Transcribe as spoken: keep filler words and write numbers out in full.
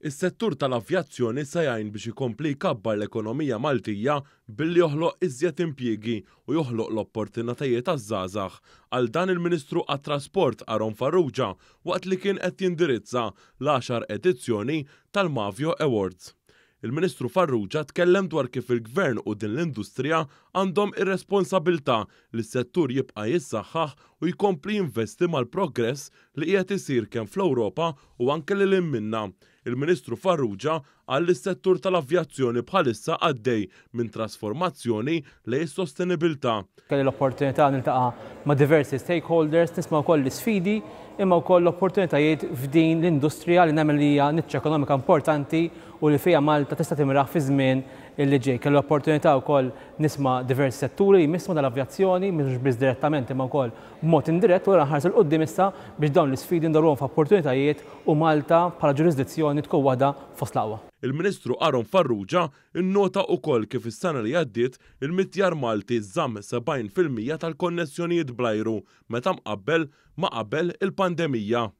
Is-settur tal-avjazzjoni se jgħin biex ikompli jkabbar l-ekonomija Maltija billi joħloq iżjed impjiegi u joħloq l-opportunitajiet għaż-żgħażagħ. Għal dan il-Ministru għat-Trasport Aaron Farrugia waqt li kien qed jindirizza l-għaxar edizzjoni tal-Mavio Awards. Il-Ministru Farrugia tkellem dwar kif il-Gvern u din l-industrija għandhom ir-responsabilità li s-settur jibqa' jissaħħaħ u jkompli jinvesti mal-progress li qiegħed isir kemm fl-Ewropa u anke lil hinn minnha. Il-Ministru Farrugia qal li s-settur tal-avjazzjoni bħalissa għaddej minn trasformazzjoni lejn is-sostenibilità. Kelli l-opportunità niltaqa' ma' diversi stakeholders, nisma' wkoll l-isfidi imma wkoll l-opportunitajiet f'din l-industrija li nemmen li hija niċċa ekonomika importanti u li fiha Malta tista' timraħ fi żmien li ġej. Kelli l-opportunità wkoll nisma' diversi setturi li jmissu dal-avjazzjoni, mhux biss direttament imma wkoll b'mod indirett, u nħarsu 'l quddiem issa biex dawn l-isfidi ndorruhom f'opportunitajiet u Malta bħala ġurisdizzjoni tkun waħda fost l-aqwa. Il-Ministru Aaron Farrugia innota wkoll kif is-sena li għaddiet il-mitjar Malti żamm sebgħin fil-mija tal-konnessjonijiet bl-ajru meta mqabbel ma' qabel il-pandemija.